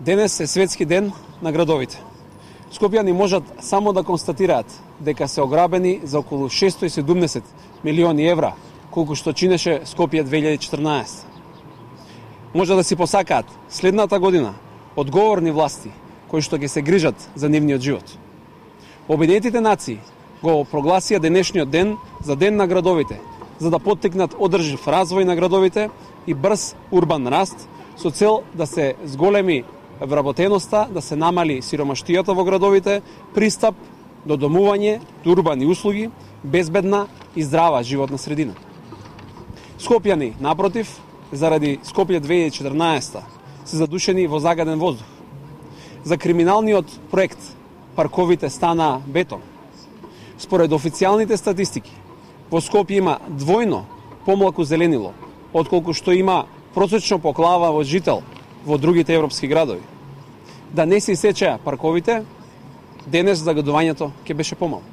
Денес е светски ден на градовите. Скопјани можат само да констатираат дека се ограбени за околу 670 милиони евра, колку што чинеше Скопје 2014. Може да си посакаат следната година одговорни власти кои што ќе се грижат за нивниот живот. Обединетите нации го прогласија денешниот ден за Ден на градовите, за да поттикнат одржив развој на градовите и брз урбан раст со цел да се зголеми вработеноста, да се намали сиромаштијата во градовите, пристап до домување, до урбани услуги, безбедна и здрава животна средина. Скопјани, напротив, заради Скопје 2014 се задушени во загаден воздух. За криминалниот проект парковите стана бетон. Според официјалните статистики, во Скопје има двојно помалку зеленило, отколку што има просечно по глава во жител во другите европски градови. Да не се исечеа парковите, денес загадувањето ќе беше помалку.